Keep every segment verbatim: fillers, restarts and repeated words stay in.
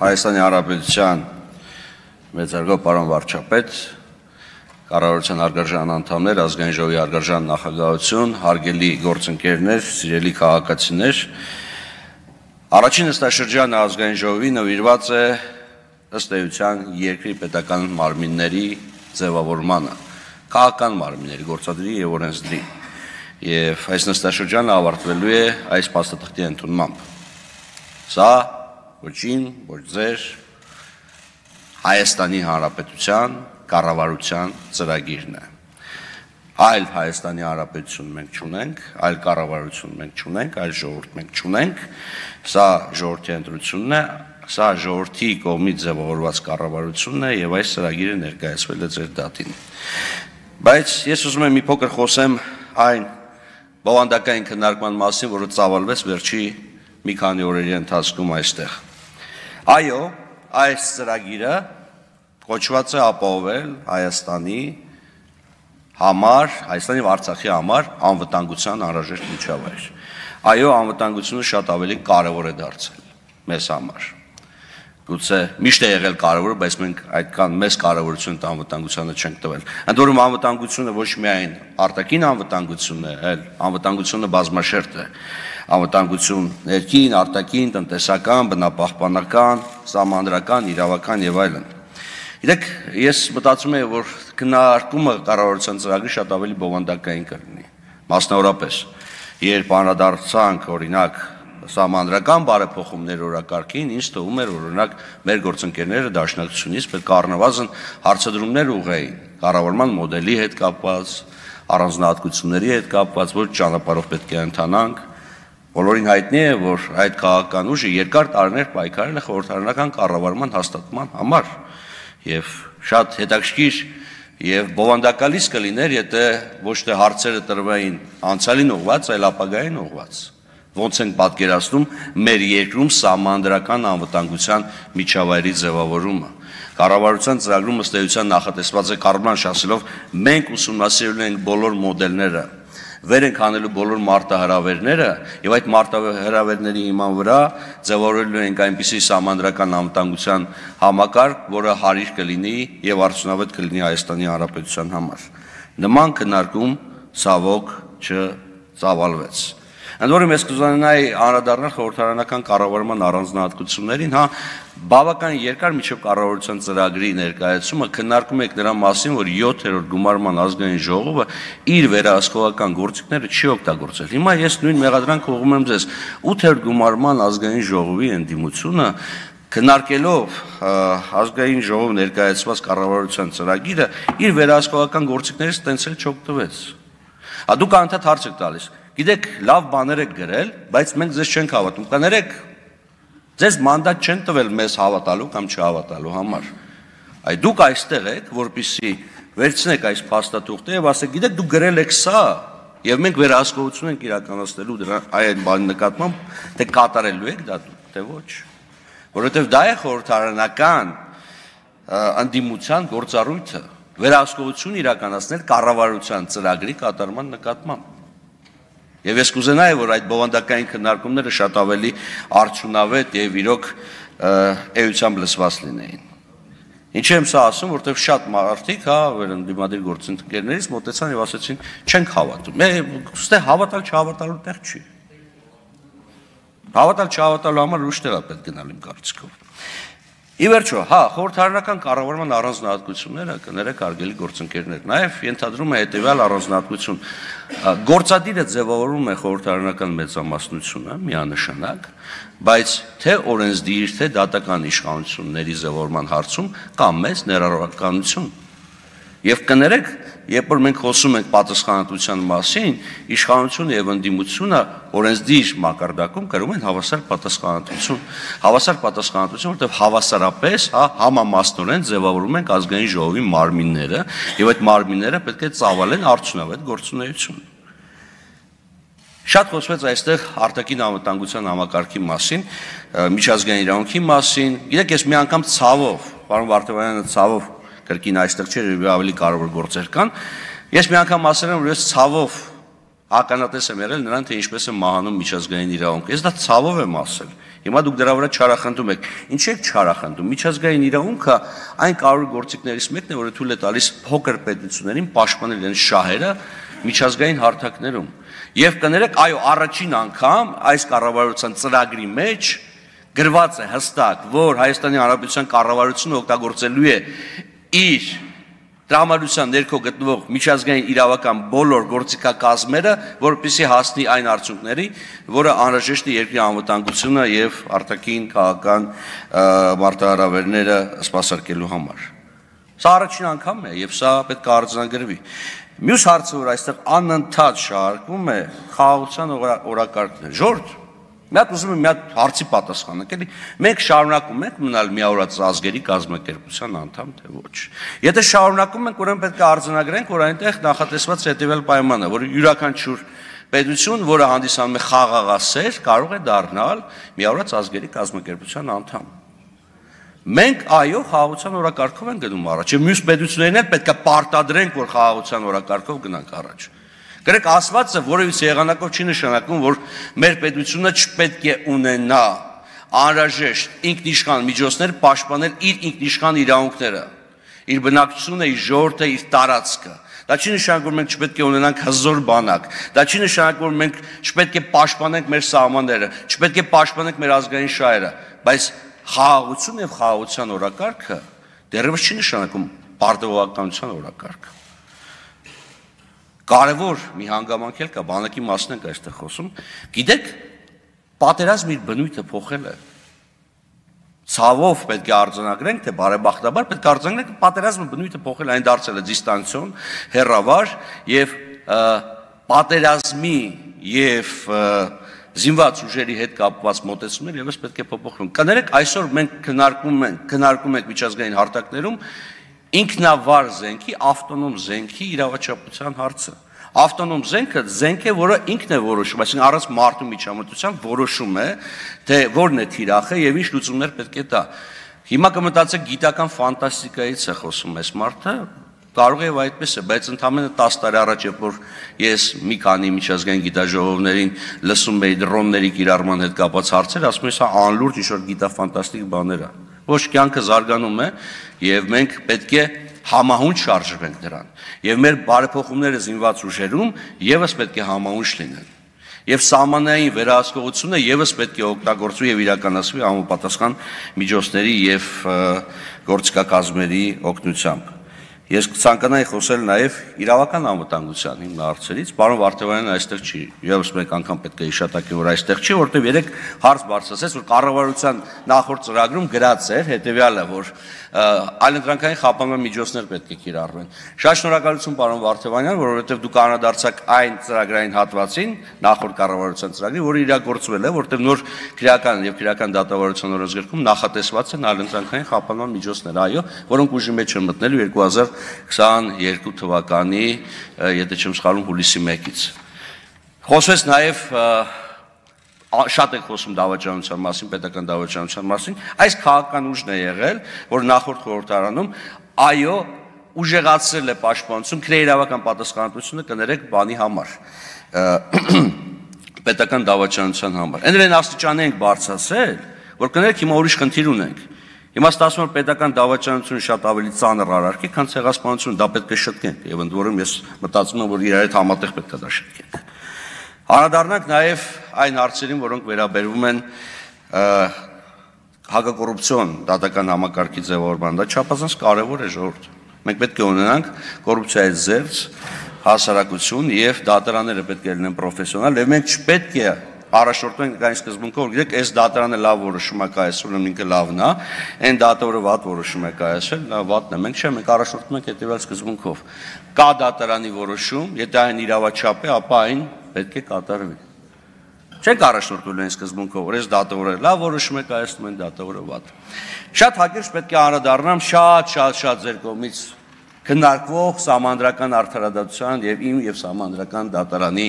Հայաստանի Հանրապետության մեծարգո պարոն վարչապետ, կառավարության հարգարժան անդամներ, ազգային ժողովի հարգարժան նախագահություն, հարգելի գործընկերներ, սիրելի քաղաքացիներ, առաջին նստաշրջանը ազգային ժողովի նվիրված է ըստ էության երկրի պետական մարմինների ձևավորմանը, քաղաքական մարմինների, գործադրի եւ օրենսդրի, եւ այս նստաշրջանը ավարտվելու է այս փաստաթղթի ընդունմամբ։ Սա ոչին, ոչ ձեր Հայաստանի Հանրապետության կառավարության ծրագիրն է։ Այլ Հայաստանի Հանրապետություն մենք չունենք, այլ կառավարություն մենք չունենք, այլ ժողովուրդ մենք չունենք։ Սա ժողովրդի ընտրությունն է, սա ժողովրդի կողմից ձևավորված կառավարությունն է եւ այս ծրագիրը ներկայացվել է ձեր դատին։ Բայց ես ուզում եմ մի փոքր խոսեմ այն բովանդակային քննարկման մասին, որը ծավալվեց վերջի մի քանի օրերի ընթացքում այստեղ։ Այո, այս ծրագիրը կոչված է ապահովել Հայաստանի համար, Հայաստանի ու Արցախի համար անվտանգության անհրաժեշտ միջավայր։ Այո, անվտանգությունը շատ ավելի կարևոր է դարձել մեզ համար։ Գուցե միշտ է եղել կարևոր, բայց մենք այդքան մեծ կարևորություն անվտանգությանը չենք տվել։ Ընդ որում անվտանգությունը ոչ միայն արտաքին անվտանգությունն է, այլ անվտանգությունը բազմաշերտ է։ Անվտանգություն ներքին, արտաքին, տնտեսական, բնապահպանական, սահմանադրական, իրավական եւ այլն։ Գիտեք, ես մտածում եմ, որ քննարկումը կառավարության ծրագրի շատ ավելի բովանդակային կլինի։ Մասնավորապես, երբ անդրադարձանք օրինակ սահմանադրական բարեփոխումներ օրակարգին, ինձ թվում էր, որ օրինակ մեր գործընկերները դաշնակցությունից պետք է առնվազն հարցադրումներ ուղղեին կառավարման մոդելի հետ կապված, առանձնահատկությունների հետ կապված, որ ճանապարհով պետք է ընթանանք։ Բոլորին հայտնի է, որ այդ քաղաքական ուժը երկար տարիներ պայքարել է խորհրդարանական կառավարման հաստատման համար եւ շատ հետաքրքիր եւ բովանդակալից կլիներ, եթե ոչ թե հարցերը տրվեին անցյալին ուղղված, այլ ապագային ուղղված։ Ոնց ենք պատկերացնում մեր երկրում սահմանադրական անվտանգության միջավայրի ձևավորումը։ Կառավարության ծրագրում ըստ էության նախատեսված է կառավարման շահելով մենք ուսումնասիրելու ենք բոլոր մոդելները, վեր ենք անելու բոլոր մարտահրավերները եւ այդ մարտահրավերների հիման վրա ձևավորելու ենք այնպիսի սահմանադրական անվտանգության համակարգ, որը հարիր կլինի եւ արդյունավետ կլինի Հայաստանի Հանրապետության համար։ Նման քննարկում ցավոք չծավալվեց։ Ընդ որում ես կուզենայի անդրադառնալ խորհրդարանական կառավարման առանձնահատկություններին, հա, բավական երկար միջև կառավարության ծրագրի ներկայացումը քննարկում եք նրա մասին, որ յոթերորդ գումարման ազգային ժողովը իր վերահսկողական գործիքները չի օգտագործել։ Հիմա ես նույն մեղադրանք ուղղում եմ ձեզ, ութերորդ գումարման ազգային ժողովի ընդդիմությունը քննարկելով ազգային ժողով ներկայացված կառավարության ծրագիրը իր վերահսկողական գործիքներից ստենցել չօգտվեց։ Հա դուք անդադ հարց եք տալիս։ Գիտեք, լավ բաներ եք գրել, բայց մենք ձեզ չենք հավատում։ Կներեք, ձեզ մանդատ չեն տվել մեզ հավատալու կամ չհավատալու համար։ Այ դուք այստեղ եք, որպեսզի վերցնեք այս փաստաթուղթը եւ ասեք, գիտեք, դուք գրել եք սա, եւ մենք վերահսկողություն ենք իրականացնելու դրա այն բանի նկատմամբ, թե կատարելու եք դա դուք, թե ոչ։ Որովհետեւ դա է խորհրդարանական ընդդիմության գործառույթը, վերահսկողություն իրականացնել կառավարության ծրագրի կատարման նկատմամբ։ Եվ ես կուզենայի, որ այդ բովանդակային քննարկումները շատ ավելի արդյունավետ եւ իրոք էությամբ լսված լինեին։ Ինչ եմ սա ասում, որովհետեւ շատ մարդիկ, հա, վերընդդիմադիր գործընկերներից մոտեցան եւ ասացին, չենք հավատում։ Ուստի հավատալ չհավատալու տեղ չի։ Հավատալ չհավատալու համար ուրիշ տեղ է պետք գնալ իմ կարծիքով։ Ի վերջո, հա, խորհրդարանական կառավարման առանձնահատկությունները կներեք արգելի գործընկերներ, նաև ենթադրում է հետևյալ առանձնահատկություն։ Գործադիրը ձևավորում է խորհրդարանական մեծամասնությունը միանշանակ, բայց թե օրենսդիր, թե դատական իշխանությունների ձևավորման հարցում կա մեծ ներառականություն։ Եվ կներեք, երբ որ մենք խոսում ենք պատասխանատվության մասին, իշխանությունը եւ ընդդիմությունը օրենսդիր մակարդակում կրում են հավասար պատասխանատվություն։ Հավասար պատասխանատվություն, որտեղ հավասարապես, հա, համամասնորեն ձևավորում են ազգային ժողովի մարմինները, եւ այդ մարմինները պետք է ծավալեն արդյունավետ գործունեություն։ Շատ խոսվեց այստեղ արտաքին անվտանգության համակարգի մասին, միջազգային իրավունքի մասին։ Գիտեք, ես մի անգամ ցավով, պարոն Վարդանյանը ցավով կրկին այստեղ չէր, ավելի կարևոր գործեր կան։ Ես մի անգամ ասել եմ, որ ես ցավով ականատես եմ եղել նրան, թե ինչպես է մահանում միջազգային իրավունքը։ Ես դա ցավով եմ ասել։ Հիմա դուք դրա վրա չարախնդում եք։ Ինչ եք չարախնդում։ Միջազգային իրավունքը այն կարևոր գործիքներից մեկն է, որը թույլ է տալիս փոքր պետություններին պաշտպանել իրենց շահերը միջազգային հարթակներում։ Եվ կներեք, այո, առաջին անգամ այս կառավարության ծրագրի մեջ գրված է հստակ, որ Հայաստանի Հանրապետության կառավարությունը օգտագործելու է իր տրամադրության ներքո գտնվող միջազգային իրավական բոլոր գործիքակազմերը, որպեսզի հասնի այն արդյունքների, որը անհրաժեշտ է երկրի անվտանգությունը եւ արտաքին քաղաքական մարտահրավերները սպասարկելու համար։ Սա առաջին անգամն է եւ սա պետք է արձանագրվի։ Մյուս հարցը, որ այստեղ անընդհատ շարժվում է, խաղաղության օրակարգն է։ Ժորժ, մի հատ ուզում եմ մի հատ հարցի պատասխանենք, էլի մենք շարունակում ենք մնալ միավորած ազգերի կազմակերպության անդամ, թե ոչ։ Եթե շարունակում ենք, ուրեմն պետք է արձանագրենք, որ այնտեղ նախատեսված հետևյալ պայմանն է, որ յուրաքանչյուր պետություն, որը հանդիսանում է խաղաղասեր, կարող է դառնալ միավորած ազգերի կազմակերպության անդամ։ Մենք այո խաղաղության օրակարգով ենք գնում առաջ, եւ մյուս պետություններն էլ պետք է պարտադրենք, որ խաղաղության օրակարգով գնանք առաջ։ Գրեք ասվածը որևիցե եղանակով չի նշանակում, որ մեր պետությունը չպետք է ունենա անհրաժեշտ ինքնիշխան միջոցներ պաշտպանել իր ինքնիշխան իրավունքները, իր բնակչությունը, իր ժողովուրդը, իր տարածքը։ Դա չի նշանակում, որ մենք չպետք է ունենանք հզոր բանակ։ Դա չի նշանակում, որ մենք չպետք է պաշտպանենք մեր սահմանները, չպետք է պաշտպանենք մեր ազգային շահերը, բայց խաղաղություն եւ խաղաղության օրակարգը դեռևս չի նշանակում պարտավորականության օրակարգ։ Կարևոր մի հանգամանք էլ կա, բանակի մասն ենք այստեղ խոսում։ Գիտեք, պատերազմի բնույթը փոխել է։ Ցավով պետք է արձանագրենք, թե բարեբախտաբար պետք է արձանագրենք, պատերազմի բնույթը փոխել է, այն դարձել է դիստանցիոն, հեռավար եւ պատերազմի եւ զինված ուժերի հետ կապված մոտեցումներ եւս պետք է փոփոխվեն։ Կներեք, այսօր մենք քննարկում ենք, քննարկում ենք միջազգային հարթակներում ինքնավար զենքի, ավտոնոմ զենքի իրավաչափության հարցը։ Ավտոնոմ զենքը զենք է, որը ինքն է որոշում, այսինքն առանց մարդու միջամտության որոշում է, թե որն է թիրախը եւ ինչ լուծումներ պետք է տա։ Հիմա կմտածեք գիտական ֆանտաստիկայից է խոսում այս մարդը, կարող է այդպես է, բայց ընդամենը տասը տարի առաջ, երբ որ ես մի քանի միջազգային գիտաժողովներին լսում էի դրոնների կիրառման հետ կապված հարցեր, ասում եմ, սա անլուրջ ինչ-որ գիտաֆանտաստիկ բաներ է։ Ոչ, կյանքը զարգանում է եւ մենք պետք է համահունչ շարժվենք դրան։ Եվ մեր բարեփոխումները զինված ուժերում եւս պետք է համահունչ լինեն։ Եվ սահմանային վերահսկողությունը եւս պետք է օգտագործվի եւ իրականացվի համապատասխան միջոցների եւ գործիքակազմերի օգնությամբ։ Ես կցանկանայի խոսել նաև իրավական անվտանգության հիմնահարցերից, պարոն Վարդևանյանը այստեղ չի, եւս մեկ անգամ պետք է հիշատակի, որ այստեղ չի, որտեղ երեք հարց բարձրացեց, որ կառավարության նախորդ ծրագրում գրած էր հետեւյալը, որ այլընտրանքային խափանման միջոցներ պետք է կիրառվեն։ Շատ շնորհակալություն պարոն Վարդևանյան, որովհետեւ դուք անդրադարձաք այն ծրագրային հատվածին, նախորդ կառավարության ծրագրի, որը իրագործվել է, որտեղ նոր քրեական եւ քրեական դատավարության օրենսգրքում նախատեսված են այլընտրանքային խափանման միջոցներ, այո, որոնք ուժի մեջ են մտնելու երկու հազար քսաներկու թվականի, եթե չեմ սխալվում, հուլիսի մեկից։ Խոսվեց նաև շատ եք խոսում դավաճանության մասին, պետական դավաճանության մասին, այս քաղաքական ուժն է եղել, որ նախորդ խորհրդարանում այո ուժեղացրել է պաշտպանություն, քրեիրավական պատասխանատվությունը կներեք բանի համար, պետական դավաճանության համար։ Այնրեն աստիճանի ենք բարձրացել, որ կներեք հիմա ուրիշ խնդիր ունենք։ Հիմա ստացվում է պետական դավաճանությունը շատ ավելի ծանր արարք է, քան ցեղասպանությունը, դա պետք է շտկենք, եւ ընդ որում ես մտածում եմ, որ իրար հետ համատեղ պետք է դա շտկենք։ Անդրադառնանք նաև այն հարցերին, որոնք վերաբերվում են հակակոռուպցիոն դատական համակարգի ձևավորման, դա չափազանց կարևոր է ժողովուրդ։ Մենք պետք է ունենանք կոռուպցիայից զերծ հասարակություն եւ դատարանները պետք է լինեն պրոֆեսիոնալ, եւ մենք չպետք է առաջորդենք այն սկզբունքով, գիտեք, այս դատարանը լավ որոշում է կայացրել, ինքը լավն է, այն դատարանը վատ որոշում է կայացրել, դա վատն է։ Մենք չէ, մենք առաջորդում ենք հետևյալ սկզբունքով։ Կա դատարանի որոշում, եթե այն իրավաչափ է, ապա այն պետք է կատարվի։ Չենք առաջորդում այն սկզբունքով, որ այս դատարանը լավ որոշում է կայացնում, այն դատարանը վատ։ Շատ հակիրճ պետք է անդրադառնամ շատ շատ շատ ձեր կողմից քննարկվող սահմանադրական արդարադատության եւ իմ եւ սահմանադրական դատարանի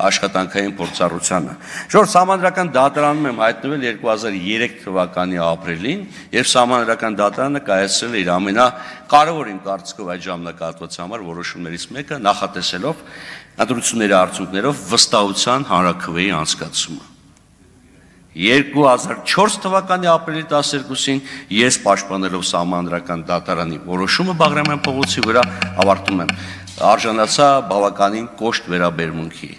աշխատանքային փորձառությանը։ Ժողովուրդ, սահմանադրական դատարանում եմ հայտնվել երկու հազար երեք թվականի ապրիլին, եւ սահմանադրական դատարանը կայացրել է իր ամենակարևոր իմ կարծիքով այդ ժամանակահատվածի համար որոշումներից մեկը, նախատեսելով ընտրությունների արդյունքներով վստահության հանրաքվեի անցկացումը։ երկու հազար չորս թվականի ապրիլի տասներկուսին ես պաշտպանելով Սահմանադրական դատարանի որոշումը Բաղրամյան փողոցի վրա ավարտում եմ, արժանացա բավականին կոշտ վերաբերմունքի։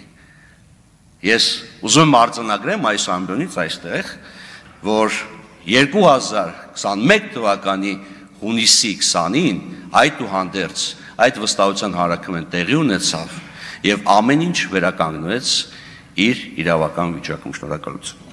Ես ուզում եմ արձանագրեմ այս ամբյոնից այստեղ, որ երկու հազար քսաներեք թվականի հունիսի քսանին այդուհանդերձ այդ վստահության հանրաքվեն տեղի ունեցավ եւ ամեն ինչ վերականգնվեց իր իրավական վիճակում։ Շնորհակալություն։